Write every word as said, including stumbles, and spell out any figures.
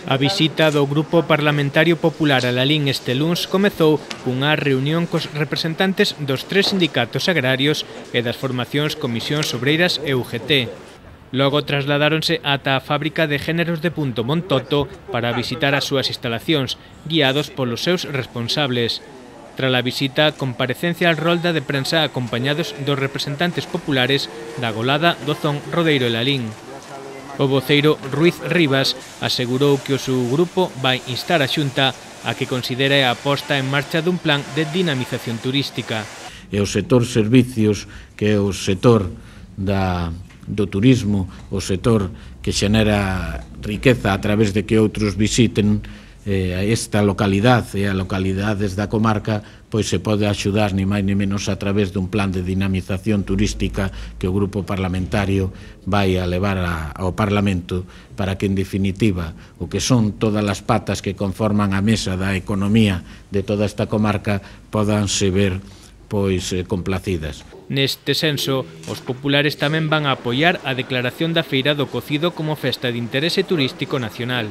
A visita do Grupo Parlamentario Popular a Lalín este luns comezou cunha reunión cos representantes dos tres sindicatos agrarios e das formacións Comisións Obreiras e U G T. Logo trasladáronse ata a fábrica de géneros de Punto Montoto para visitar as súas instalacións, guiados polos seus responsables. Tras a visita, comparecencia al rolda de prensa acompañados dos representantes populares da Golada, Dozón, Rodeiro e Lalín. O voceiro Ruiz Rivas asegurou que o seu grupo vai instar a Xunta a que considere a posta en marcha dun plan de dinamización turística. E o setor servicios, que é o setor da, do turismo, o setor que xenera riqueza a través de que outros visiten eh, esta localidade e a localidades da comarca, pois se pode axudar ni máis ni menos a través dun plan de dinamización turística que o Grupo Parlamentario vai a levar a, ao Parlamento para que, en definitiva, o que son todas as patas que conforman a mesa da economía de toda esta comarca podanse ver pois eh, complacidas. Neste senso, os populares tamén van a apoiar a declaración da Feira do Cocido como festa de interese turístico nacional.